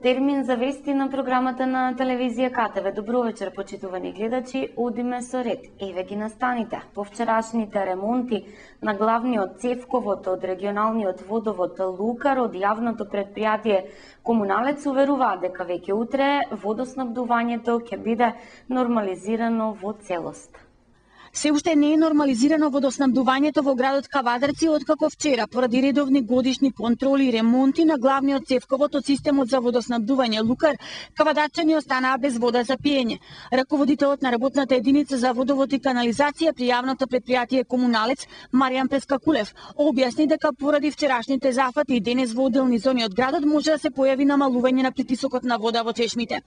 Термин за вести на програмата на телевизија КТВ. Добро вечер, почитувани гледачи. Одиме со ред. Еве ги настаните. По вчерашните ремонти на главниот цевковод од регионалниот водовод Лукар од јавното предпријатие Комуналец уверуваат дека веќе утре водоснабдувањето ќе биде нормализирано во целост. Се уште не е нормализирано водоснабдувањето во градот Кавадарци откако вчера поради редовни годишни контроли и ремонти на главниот цевковод од системот за водоснабдување Лукар, кавадарчани останаа без вода за пиење. Раководителот на работната единица за водовод и канализација при јавното предпријатие Комуналец, Маријан Пескакулев, објасни дека поради вчерашните зафати и денес во одделни зони од градот може да се појави намалување на притисокот на вода во чешмите.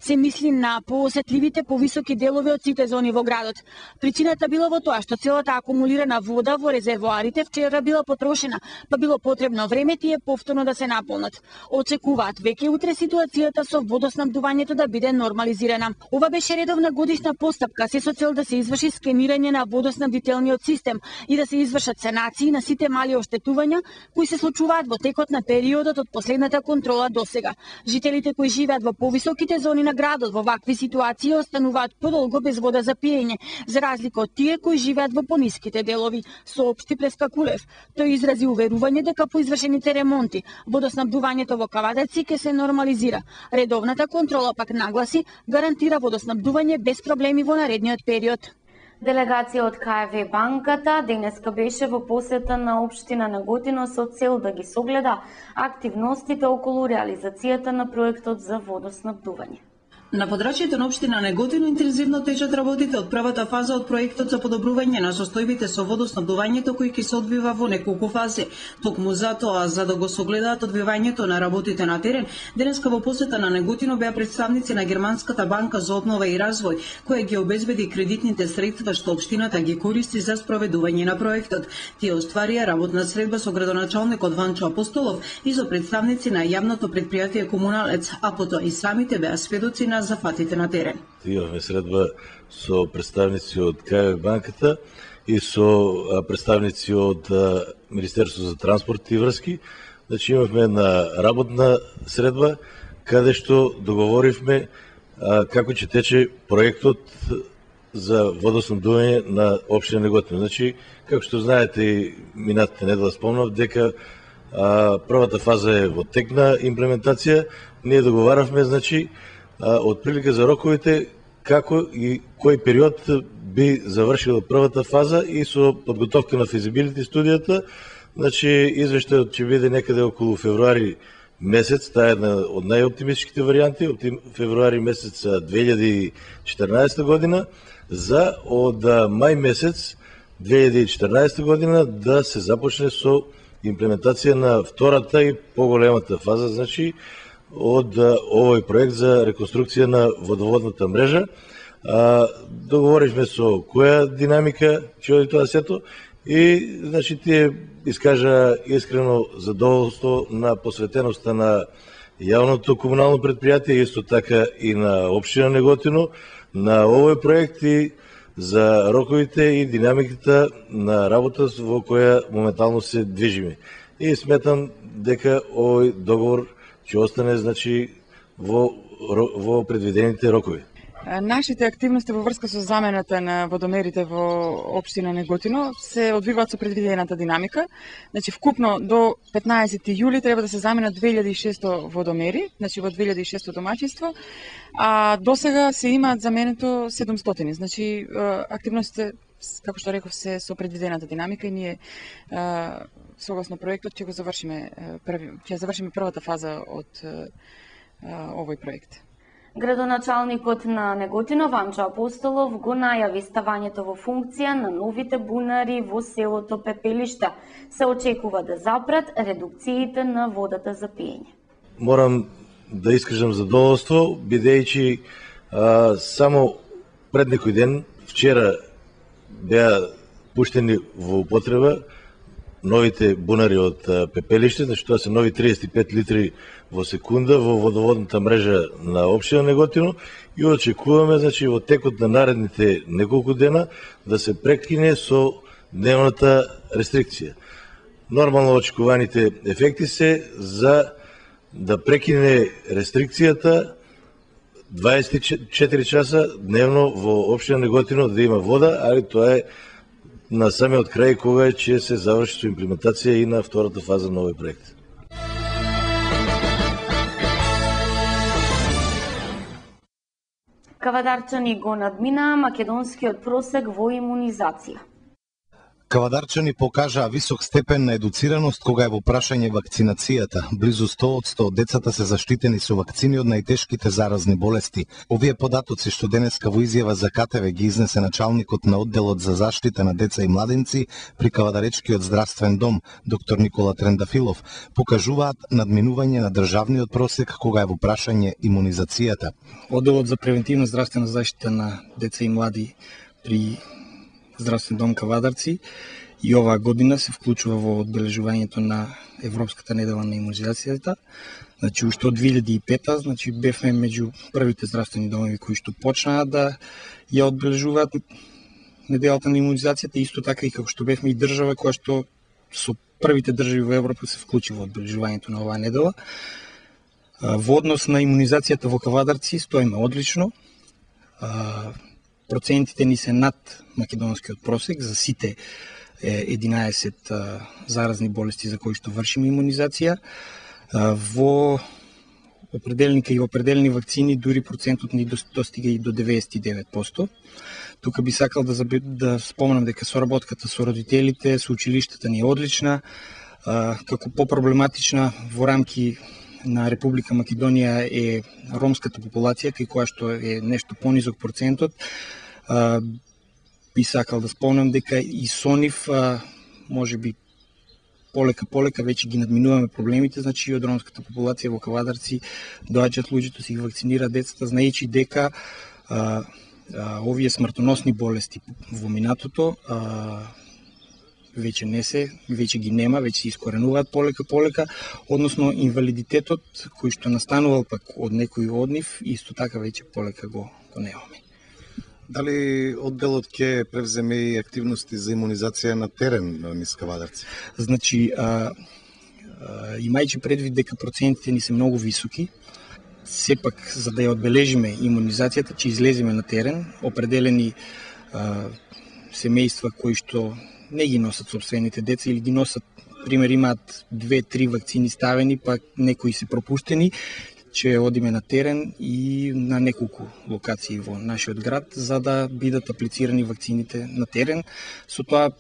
Се мисли на поосетливите повисоки делови од сите зони во градот. Причината била во тоа што целата акумулирана вода во резервоарите вчера била потрошена, па било потребно време тие повторно да се наполнат. Очекуваат веќе утре ситуацијата со водоснабдувањето да биде нормализирана. Ова беше редовна годишна постапка, се со цел да се изврши скенирање на водоснабдителниот систем и да се извршат санации на сите мали оштетувања кои се случуваат во текот на периодот од последната контрола досега. Жителите кои живеат во повисоките зони на градот во вакви ситуации остануваат подолго без вода за пиење, за разлика од тие кои живеат во пониските делови, соопшти Пескакулев. Тој изрази уверување дека по извршените ремонти водоснабдувањето во Кавадарци ќе се нормализира. Редовната контрола пак нагласи гарантира водоснабдување без проблеми во наредниот период. Делегација од КФВ банката денеска беше во посета на општина Неготино со цел да ги согледа активностите околу реализацијата на проектот за водоснабдување. На подрачјето на општина Неготино интензивно течат работите од првата фаза од проектот за подобрување на состојбите со водоснабдувањето кој ќе се одвива во неколку фази. Токму затоа, за да го согледаат одвивањето на работите на терен, денеска во посета на Неготино беа представници на Германската банка за обнова и развој, која ги обезбеди кредитните средства што општината ги користи за спроведување на проектот. Тие остварија работна средба со градоначалникот Ванчо Апостолов и со представници на јавното предпријатие Комуналец, а потоа и самите беа сведоци на зафатите на терен. Имавме средба со представници од КФВ банката и со представници од Министерството за транспорт и врски. Значи имавме една работна средба каде што договоривме како ќе тече проектот за водоснабдување на општина Неготино. Значи, како што знаете и минатата недела спомнав дека првата фаза е во тек на имплементација. Ние договаравме, значи, отприлика за роковите, како и кој период би завршила првата фаза и со подготовка на физибилити студијата. Значи, извештајот ќе биде некаде околу февруари месец, таа е една од најоптимистичките варијанти, од февруари месец 2014 година, за од мај месец 2014 година да се започне со имплементација на втората и поголемата фаза, значи, од овој проект за реконструкција на водоводната мрежа. Договоривме со која динамика ќе оди тоа сето и, значи, тие искажа искрено задоволство на посветеноста на јавното комунално предпријатие, исто така и на општина Неготино, на овој проект и за роковите и динамиката на работа во која моментално се движиме. И сметам дека овој договор ќе остане, значи, во предвидените рокови. Нашите активности во врска со замената на водомерите во општина Неготино се одвиваат со предвидената динамика. Значи, вкупно до 15 јули треба да се заменат 2600 водомери, значи во 2600 домаќинство, а досега се имаат заменето 700. Значи, активностите, како што реков, се со предвидената динамика и ние согласно проектот ќе завршиме првата фаза од овој проект. Градоначалникот на Неготино Ванчо Апостолов го најави ставањето во функција на новите бунари во селото Пепелишта. Се очекува да запрат редукциите на водата за пиење. Морам да искажам задоволство, бидејќи само пред некој ден, вчера, беа пуштени во употреба новите бунари од Пепелиште, значи тоа се нови 35 литри во секунда во водоводната мрежа на општина Неготино и очекуваме, значи, во текот на наредните неколку дена да се прекине со дневната рестрикција. Нормално очекуваните ефекти се за да прекине рестрикцијата 24 часа дневно во општина Неготино да има вода, али тоа е на самиот крај кога ќе се заврши со имплементација и на втората фаза на овој проект. Кавадарчани го надминаа македонскиот просек во имунизација. Кавадарчани покажаа висок степен на едуцираност кога е во прашање вакцинацијата. Близу 100% од децата се заштитени со вакцини од најтешките заразни болести. Овие податоци што денеска во изјава за КТВ ги изнесе началникот на одделот за заштита на деца и младенци при Кавадаречкиот здравствен дом, доктор Никола Трендафилов, покажуваат надминување на државниот просек кога е во прашање имунизацијата. Одделот за превентивна здравствена заштита на деца и млади при Здравствен дом Кавадарци и оваа година се вклучува во одбележувањето на Европската недела на имунизацијата. Значи, уште од 2005-та, значи, бевме меѓу првите здравствени домови кои што почнаа да ја одбележуваат неделата на имунизацијата, исто така и како што бевме и држава која што со првите држави во Европа се вклучи во одбележувањето на оваа недела. Во однос на имунизацијата во Кавадарци стоиме одлично. Процентите ни се над македонскиот просек за сите 11 заразни болести за кои што вршиме имунизација. Во определени вакцини дури процентот ни достига и до 99%. Тука би сакал да споменам дека соработката со родителите, со училиштата ни е одлична. Како по-проблематична во рамки на Република Македонија е ромската популација, кај која што е нешто понизок процентот. Би сакал да спомнам дека и со нив може би полека веќе ги надминуваме проблемите, значи и од ромската популација во Кавадарци доаѓаат луѓето си ги вакцинираат децата, знаејќи дека овие смртоносни болести во минатото веќе ги нема, веќе се искоренуваат полека, односно инвалидитетот кој што настанувал пак од некој од нив, исто така веќе полека го немаме. Дали одделот ќе превземе и активности за имунизација на терен низ Кавадарци? Значи, имајќи предвид дека процентите ни се многу високи, сепак за да ја одбележиме имунизацијата, ќе излеземе на терен, определени семејства кои што не ги носат собствените деца или ги носат, пример имаат 2-3 вакцини ставени, па некои се пропуштени, ќе одиме на терен и на неколку локации во нашиот град за да бидат аплицирани вакцините на терен. Со тоа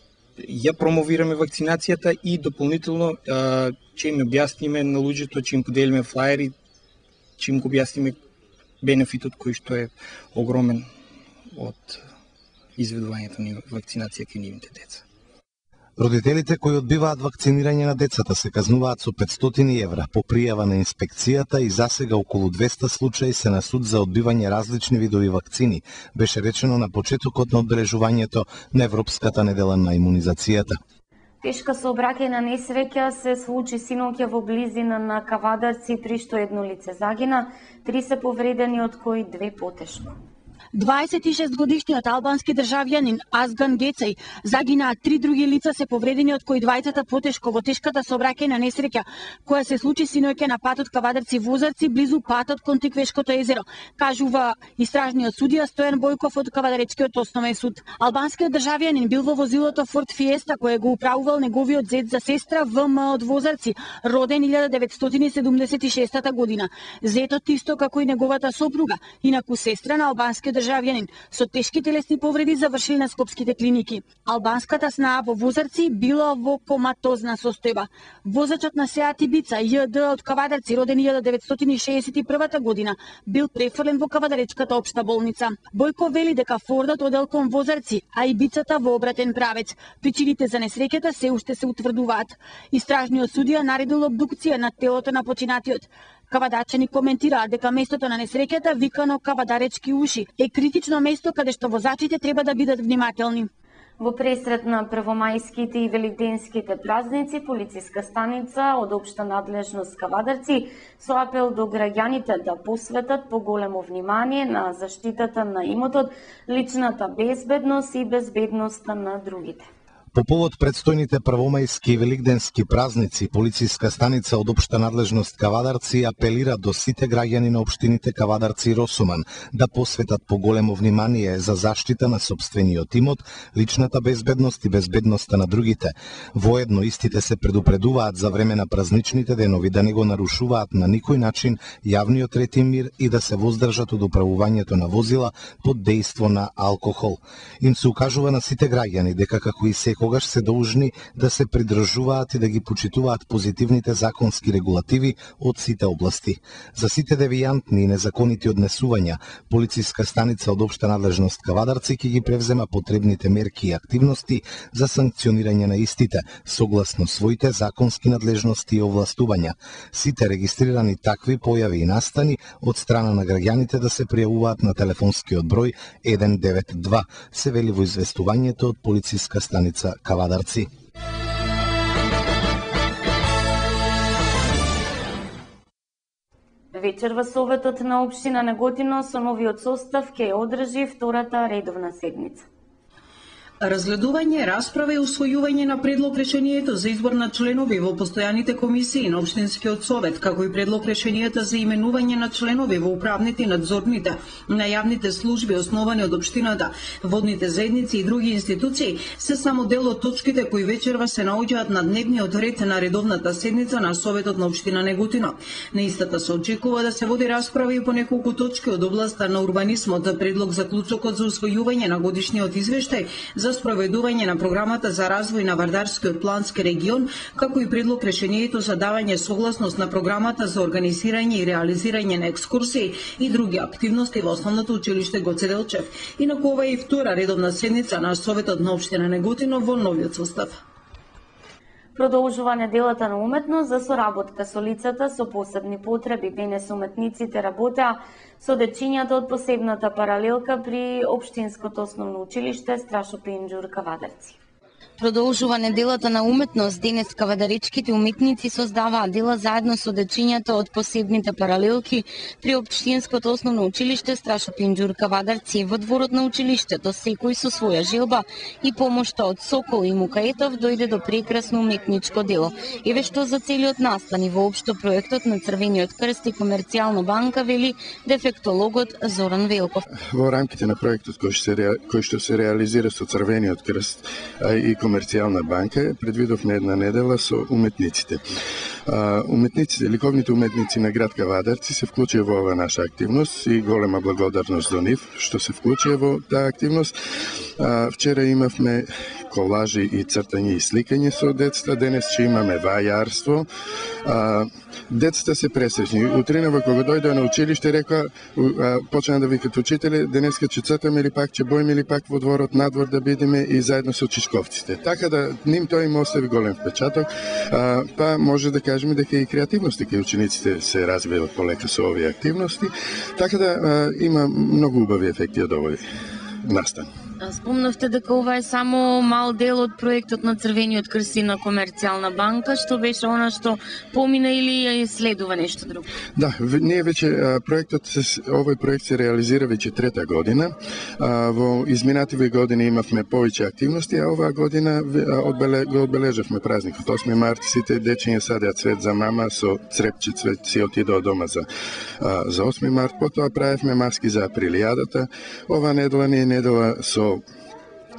ја промовираме вакцинацијата и дополнително ќе им објасниме на луѓето, ќе им поделиме флаери, ќе им го објасниме бенефитот кој што е огромен од изведувањето на вакцинација кај нивните деца. Родителите кои одбиваат вакцинирање на децата се казнуваат со 500 евра по пријава на инспекцијата и засега околу 200 случаи се на суд за одбивање различни видови вакцини, беше речено на почетокот на одбележувањето на Европската недела на имунизацијата. Тешка сообраќајна несреќа се случи синоќа во близина на Кавадарци, при што едно лице загина, 3 се повредени, од кои 2 потешко. 26-годишниот албански државјанин Азган Гецај загинаа, 3 други лица се повредени, од кои 2 потешко во тешката сообраќајна несреќа која се случи синоќа на патот Кавадарци-Возарци близу патот кон Тиквешкото езеро, кажува истражниот судија Стојан Бојков од Кавадаречкиот основен суд. Албанскиот државјанин бил во возилото Форд Фиеста кое го управувал неговиот зет за сестра ВМ од Возарци, роден 1976 година. Зетот исто како и неговата сопруга, инаку сестра на албанскиот државјанин со тешки телесни повреди завршили на скопските клиники. Албанската снаа во Возарци била во коматозна состојба. Возачот на Сеат Ибица ЈД од Кавадарци, роден 1961 година, бил префрлен во Кавадаречката општа болница. Бојко вели дека Фордот одел кон Возарци, а Ибицата во обратен правец. Причините за несреќата се уште се утврдуваат. Истражниот судија наредил обдукција на телото на починатиот. Кавадарчани коментираат дека местото на несреќата, викано Кавадаречки уши, е критично место каде што возачите треба да бидат внимателни. Во пресрет на првомајските и великденските празници, полициска станица од општа надлежност Кавадарци со апел до граѓаните да посветат поголемо внимание на заштитата на имотот, личната безбедност и безбедноста на другите. По повод предстојните првомајски и великденски празници, полициска станица од општа надлежност Кавадарци апелира до сите граѓани на општините Кавадарци и Росуман да посветат поголемо внимание за заштита на сопствениот имот, личната безбедност и безбедноста на другите. Воедно истите се предупредуваат за време на празничните денови да не го нарушуваат на никој начин јавниот ред и мир и да се воздржат од управувањето на возила под дејство на алкохол. Им се укажува на сите граѓани дека како и секогаш се должни да се придржуваат и да ги почитуваат позитивните законски регулативи од сите области. За сите девијантни и незаконити однесувања, полициска станица од општа надлежност Кавадарци ќе ги превзема потребните мерки и активности за санкционирање на истите, согласно своите законски надлежности и овластувања. Сите регистрирани такви појави и настани од страна на граѓаните да се пријавуваат на телефонскиот број 192, се вели во известувањето од полициска станица Кавадарци. Вечер во Советот на општина Неготино со новиот состав ќе одржи втората редовна седница. Разгледување, расправа и усвојување на предлог решението за избор на членови во постојаните комисии на Општинскиот совет, како и предлог решенијата за именување на членови во управните и надзорните на јавните служби основани од општината, водните заедници и други институции, се само дел од точките кои вечерва се наоѓаат на дневниот ред на редовната седница на Советот на општина Неготино. На истата се очекува да се води расправа и по неколку точки од областа на урбанизмот, предлог заклучокот за усвојување на годишниот извештај за спроведување на програмата за развој на Вардарскиот плански регион, како и предлог решението за давање согласност на програмата за организирање и реализирање на екскурсии и други активности во основното училиште Гоце Делчев. Инаку ова е и втора редовна седница на Советот на општина Неготино во новиот состав. Продолжува неделата на уметност за соработка со лицата со посебни потреби. Денес уметниците работеа со дечињата од посебната паралелка при Општинското основно училиште Страшо Пинџур Кавадарци. Продолжува неделата на уметност. Денес кавадаричките уметници создаваа дела заедно со дечињата од посебните паралелки при Општинското основно училиште Страшо Пинџур Кавадарци. Во дворот на училиштето секој со своја желба и помошта од Сокол и Мукаетов дојде до прекрасно уметничко дело. Еве што за целиот настан и воопшто проектот на Црвениот крст и Комерцијална банка вели дефектологот Зоран Велков. Во рамките на проектот кој што се реализира со Црвениот крст и Комерцијална банка, предвидовме една недела со уметниците. Уметниците, ликовните уметници на град Кавадарци се вклучија во оваа наша активност и голема благодарност до нив што се вклучија во таа активност. Вчера имавме колажи и цртање и сликање со децата, денес ќе имаме вајарство. Децата се пресечни. Утринава кога дојдоа на училиште рекоа, почна да викат учители, денеска ќе цртаме или пак ќе боиме или пак во дворот надвор да бидеме и заедно со чичковците. Така да ним тој им остави голем впечаток, па може да кажеме дека и креативноста кај учениците се развиваат полека со овие активности, така да има многу убави ефекти од овој настан. Спомнавте дека ова е само мал дел од проектот на Црвениот крст и на Комерцијална банка, што беше она што помина или следува нешто друго? Да, ние веќе овој проект се реализира веќе трета година. Во изминативе години имавме повеќе активности, а оваа година го одбележавме празникот 8 март, сите дечиња садеа цвет за мама со црепче цвет си отидоа дома за 8 март, потоа правевме маски за априлијадата. Ова недела не е недела со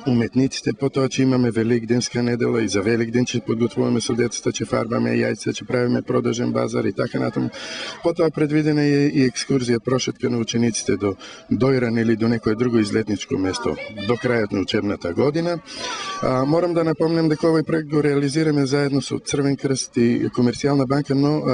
уметниците, потоа ќе имаме великденска недела и за Великден ќе подготвуваме со децата, ќе фарбаме јајца, ќе правиме продажен базар и така натаму. Потоа предвидена е и екскурзија прошетка на учениците до Дојран или до некое друго излетничко место до крајот на учебната година. Морам да напомнам дека овој проект го реализираме заедно со Црвен крст и Комерцијална банка, но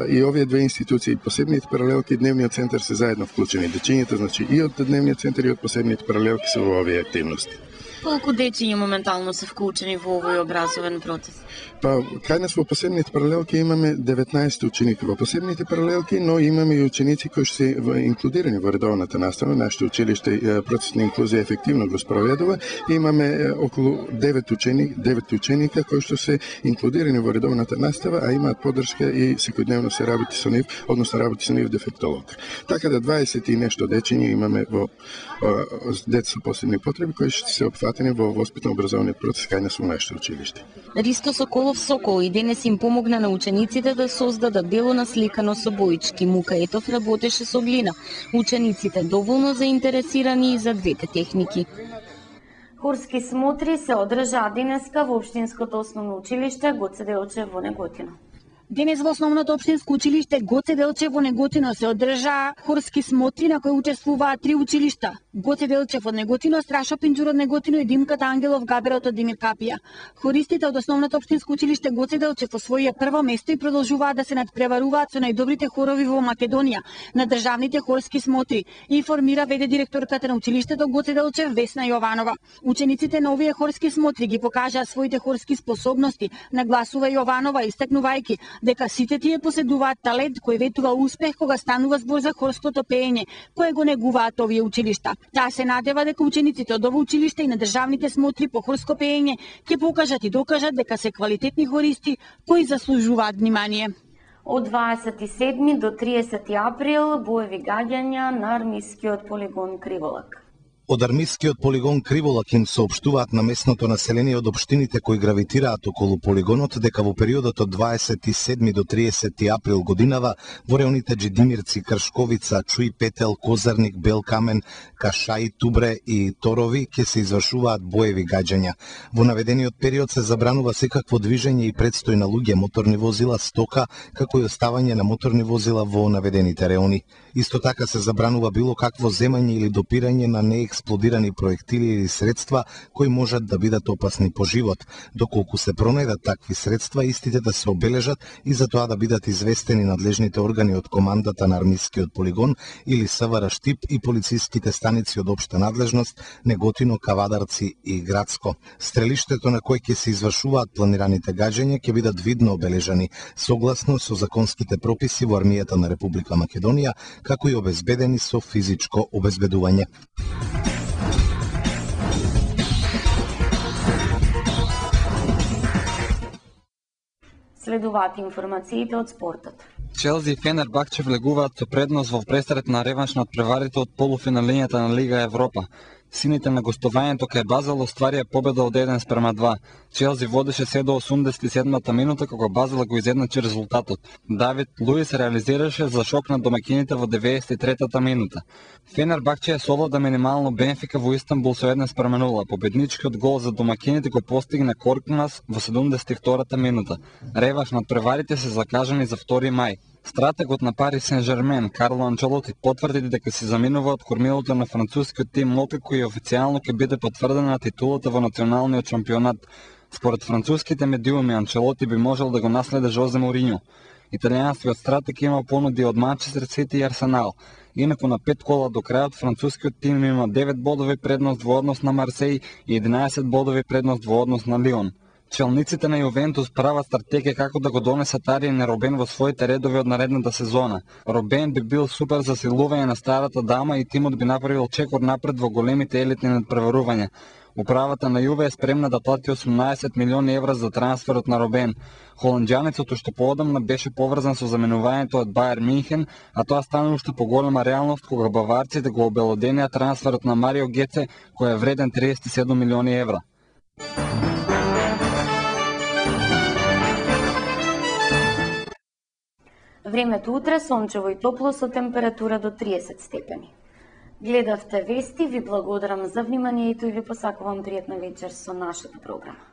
и овие две институции, посебните паралелки и Дневниот центар се заедно вклучени. Дечињата, значи и од Дневниот центар и од посебните паралелки се во овие активности. Колку дечиња моментално се вклучени во овој образовен процес? Па, кај нас во посебните паралелки имаме 19 ученика во посебните паралелки, но имаме и ученици кои се инклудирани во редовната настава. Нашето училиште процес на инклузија ефективно го спроведува. Имаме околу 9 ученика кои што се инклудирани во редовната настава, а имаат поддршка и секојдневно се работи со нив, односно работи со нив дефектолог. Така да 20 и нешто дечиња имаме во деца со посебни потреби кои што се опфатени опфатени во воспитно-образовниот процес кај нас во нашето училиште. Ристо Соколов Сокол и денес им помогна на учениците да создадат дело насликано со боички. Мука Етов работеше со глина. Учениците доволно заинтересирани и за двете техники. Хорски смотри се одржаа денеска во Општинското основно училиште Гоце Делчев во Неготино. Денес во основното општинско училиште Гоце Делчев во Неготино се одржаа хорски смотри на кои учествуваат 3 училишта: Гоце Делчев од Неготино, Страшо Пинџур од Неготино и Димката Ангелов Габерот од Димир Капија. Хористите од основното општинско училиште Гоце Делчев освоија прво место и продолжуваат да се надпреваруваат со најдобрите хорови во Македонија на државните хорски смотри, информира веде директорката на училиштето Гоце Делчев Весна Јованова. Учениците на овие хорски смотри ги покажаа своите хорски способности, нагласува Јованова, истакнувајќи дека сите тие поседуваат талент кој ветува успех кога станува збор за хорското пеење, кое го негуваат овие училишта. Таа се надева дека учениците од ова училиште и на државните смотри по хорско пеење ќе покажат и докажат дека се квалитетни хористи кои заслужуваат внимание. Од 27 до 30 април боеви гаѓања на армискиот полигон Криволак. Од армискиот полигон Криволак им соопштуваат на местното население од општините кои гравитираат околу полигонот дека во периодот од 27 до 30 април годинава во реоните Джидимирци, Кршковица, Чуј, Петел, Козарник, Белкамен, Кашај, Тубре и Торови ќе се извршуваат боеви гаѓања. Во наведениот период се забранува секакво движење и предстој на луѓе, моторни возила, стока, како и оставање на моторни возила во наведените реони. Исто така се забранува било какво земање или допирање на неексплодирани проектили или средства кои можат да бидат опасни по живот. Доколку се пронајдат такви средства, истите да се обележат и за тоа да бидат известени надлежните органи од командата на армискиот полигон или СВР Штип и полициските станици од општа надлежност Неготино, Кавадарци и Градско. Стрелиштето на кој ќе се извршуваат планираните гаѓања ќе бидат видно обележани согласно со законските прописи во армијата на Република Македонија, како и обезбедени со физичко обезбедување. Следуваат информациите од спортот. Челси и Фенербахче влегуваат со предност во пресрет на реванш на преварите од полуфиналињата на Лига Европа. Сините на гостувањето кај Базел остварија победа од 1:2. Челси водеше се до 87-та минута кога Базел го изедначи резултатот. Давид Луис реализираше за шок на домакините во 93-та минута. Фенербахче совлада минимално Бенфика во Истанбул со 1:0. Победничкиот гол за домакините го постигна Коркмас во 72-та минута. Реванш над преварите се закажани за 2 мај. Стратегот на Пари Сен-Жермен, Карло Анчелоти, потврди дека се заминува од кормилото на францускиот тим Локако и официјално ќе биде потврдена титулата во националниот шампионат. Според француските медиуми, Анчелоти би можел да го наследи Жозе Мориньо. Италијанскиот стратег има понуди од Манчестер Сити и Арсенал. Инаку на 5 кола до крајот францускиот тим има 9 бодови предност во однос на Марсеј и 11 бодови предност во однос на Лион. Челниците на Јувентус прават стратегија како да го донесат Ариен Робен во своите редови од наредната сезона. Робен би бил супер за силување на старата дама и тимот би направил чекор напред во големите елитни надпреварувања. Управата на Јуве е спремна да плати 18 милиони евра за трансферот на Робен. Холанѓанецот уште поодамна беше поврзан со заменувањето од Бајер Минхен, а тоа стана уште поголема реалност кога баварците го обелоденија трансферот на Марио Геце, кој е вреден 37 милиони евра. Времето утре сончево и топло со температура до 30 степени. Гледавте вести, ви благодарам за вниманието и ви посакувам пријатна вечер со нашата програма.